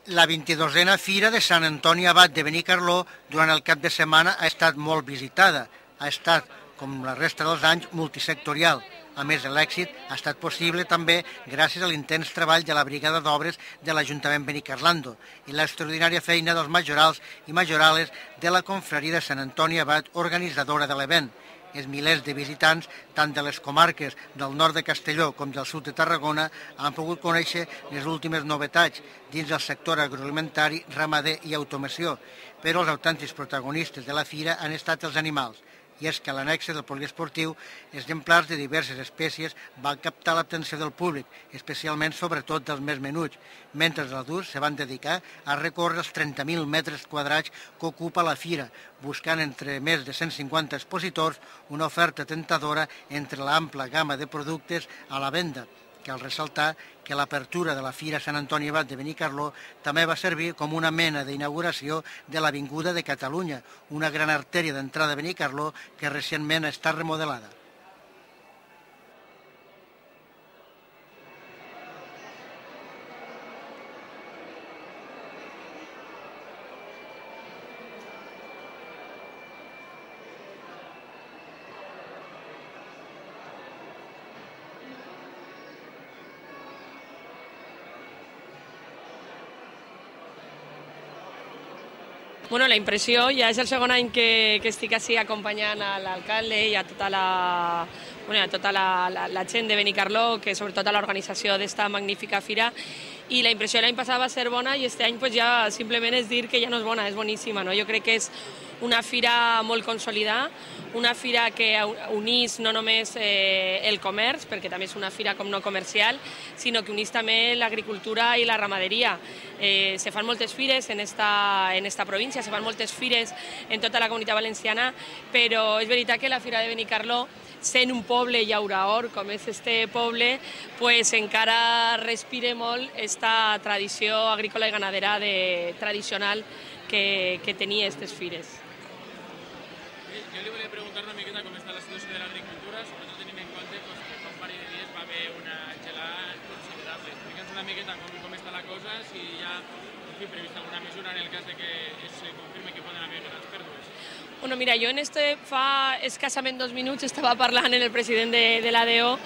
La 22a Fira de Sant Antoni Abat de Benicarló durant el cap de setmana ha estat molt visitada. Ha estat, com la resta dels anys, multisectorial. A més, l'èxit ha estat possible també gràcies a l'intens treball de la Brigada d'Obres de l'Ajuntament Benicarlando i l'extraordinària feina dels majorals i majorales de la Confraria de Sant Antoni Abat, organitzadora de l'event. Els milers de visitants, tant de les comarques del nord de Castelló com del sud de Tarragona, han pogut conèixer les últimes novetats dins del sector agroalimentari, ramader i automoció, però els autèntics protagonistes de la fira han estat els animals. I és que a l'annexe del poliesportiu, exemplars de diverses espècies van captar l'atenció del públic, especialment sobretot dels més menuts, mentre els adults se van dedicar a recórrer els 30.000 metres quadrats que ocupa la fira, buscant entre més de 150 expositors una oferta tentadora entre l'ampla gamma de productes a la venda. Cal ressaltar que l'apertura de la Fira Sant Antoni Abat de Benicarló també va servir com una mena d'inauguració de l'Avinguda de Catalunya, una gran artèria d'entrada a Benicarló que recentment ha estat remodelada. Bueno, la impressió, ja és el segon any que estic així acompanyant a l'alcalde i a tota la gent de Benicarló, que sobretot a l'organització d'esta magnífica fira, i la impressió de l'any passat va ser bona i aquest any ja simplement és dir que ja no és bona, és boníssima. Jo crec que és una fira molt consolidada, una fira que unís no només el comerç, perquè també és una fira com no comercial, sinó que unís també l'agricultura i la ramaderia. Se fan moltes fires en esta província, se fan moltes fires en tota la Comunitat Valenciana, però és veritat que la Fira de Benicarló, sent un poble llauraor com és este poble, encara respira molt esta tradició agrícola i ganadera tradicional que tenia aquestes fires. Jo li volia preguntar una miqueta com està la situació de l'agricultura, sobretot tenint en compte que fa un parell de dies va haver una gelada considerable. Explica'ns una miqueta com està la cosa, si hi ha prevista alguna mesura en el cas de que se confirmi que poden haver grans pèrdues. Bueno, mira, jo fa escassament 2 minuts estava parlant amb el president de l'ADO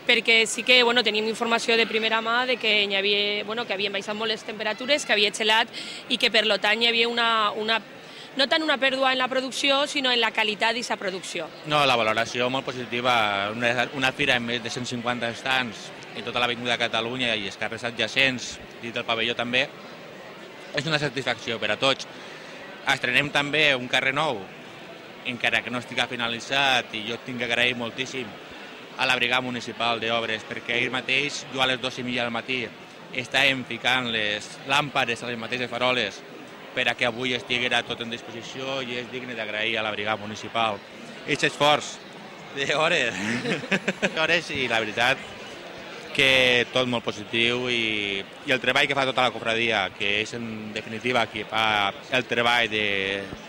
perquè sí que tenim informació de primera mà de que havien baixat molt les temperatures, que havia gelat i que per tant hi havia no tant una pèrdua en la producció, sinó en la qualitat d'aquesta producció. No, la valoració molt positiva. Una fira amb més de 150 estants en tota l'Avinguda de Catalunya i els carrers adjacents, dins del pavelló també, és una satisfacció per a tots. Estrenem també un carrer nou, encara que no estigui finalitzat, i jo tinc que agrair moltíssim a la Brigada Municipal d'Obres, perquè ahir mateix, jo a les 2:30 del matí, estàvem ficant les làmpades a les mateixes faroles per a que avui estiguera tot en disposició, i és digne d'agrair a la Brigada Municipal aquest esforç d'hores i la veritat que tot molt positiu, i el treball que fa tota la cofradia, que és en definitiva qui fa el treball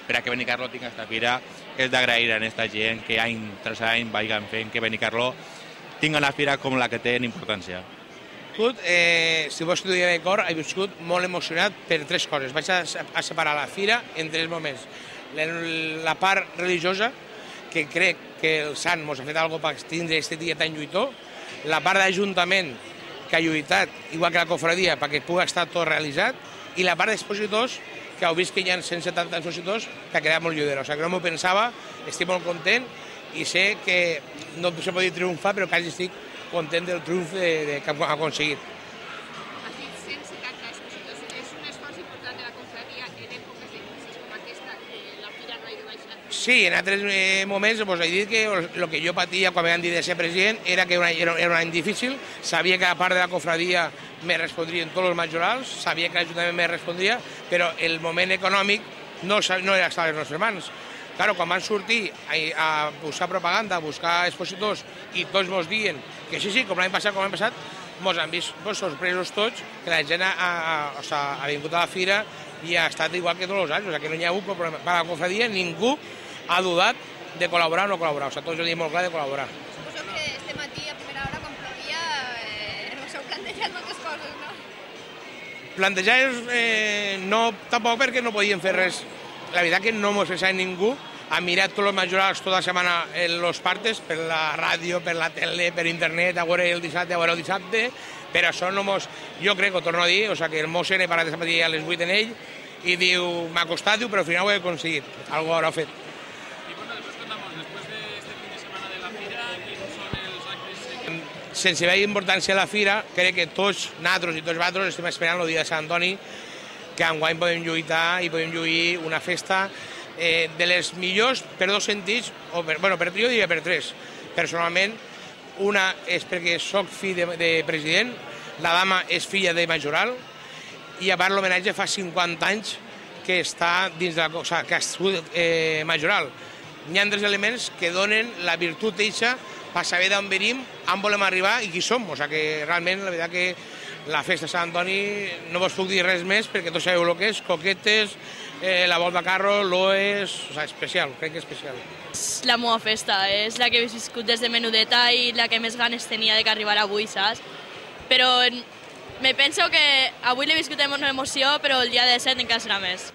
per a que Benicarló tingui aquesta fira, és d'agrair a aquesta gent que any tras any vagin fent que Benicarló tingui una fira com la que té en importància. Si vos estudiar de cor, he viscut molt emocionat per 3 coses. Vaig a separar la fira en 3 moments. La part religiosa, que crec que el sant ens ha fet alguna cosa per tindre aquest dia tan lluitós, la part d'Ajuntament que ha lluitat, igual que la cofradia, perquè pugui estar tot realitzat, i la part d'expositors, que heu vist que hi ha 170 expositors, que ha quedat molt lluidera. O sigui, que no m'ho pensava, estic molt content i sé que no se pot dir triomfar, però quasi estic content del triomf que hem aconseguit. Has dit 170 expositors. És un esforç important de la confraria en èpoques de crisi com aquesta, que la fira no ha ido baixant. Sí, en altres moments he dit que el que jo patia quan m'han dit de ser president era que era un any difícil, sabia que a part de la cofradia me respondrien tots els majorals, sabia que l'Ajuntament me respondria, però el moment econòmic no era estar a les nostres mans. Claro, quan van sortir a buscar propaganda, a buscar expositors, i tots ens diuen que sí, com l'any passat, ens han vist sorpresos tots, que la gent ha vingut a la fira i ha estat igual que tots els anys, o sigui, que no hi ha hagut problema. Per a la cofradia ningú ha dudat de col·laborar o no col·laborar, o sigui, tots hem dit molt clar de col·laborar. Suposo que este matí, a primera hora, quan plovia, us heu plantejat moltes coses, no? Plantejar no, tampoc perquè no podíem fer res. La veritat que no mos pensava ningú. Ha mirat tots els majorals tota la setmana en los partes, per la ràdio, per la tele, per internet, a veure el dissabte, per això no mos... Jo crec, ho torno a dir, que el Mosen he parat de matí a les 8 en ell i diu, m'ha costat, però al final ho he aconseguit, algo haurà fet. I bueno, després contamos, després d'este fin de setmana de la fira, quins són els actes? Sense veure importància a la fira, crec que tots nosaltres i tots vosaltres estem esperant el dia de Sant Antoni, que enguany podem lluitar i podem lluir una festa de les millors per dos sentits, o per trio diria per tres. Personalment, una és perquè soc fill de president, la dama és filla de majoral, i a part l'homenatge fa 50 anys que està dins de la cosa, que ha sigut majoral. Hi ha tres elements que donen la virtut d'eixa per saber d'on venim, on volem arribar i qui som. O sigui que realment, la veritat que la festa de Sant Antoni no vos puc dir res més perquè tots sabeu el que és, coquetes, la volta a carro, l'OES, o sigui, especial, crec que és especial. És la meva festa, és la que he viscut des de menudeta i la que més ganes tenia de que arribara avui, saps? Però me penso que avui l'he viscut amb una emoció, però el dia de 7 encara serà més.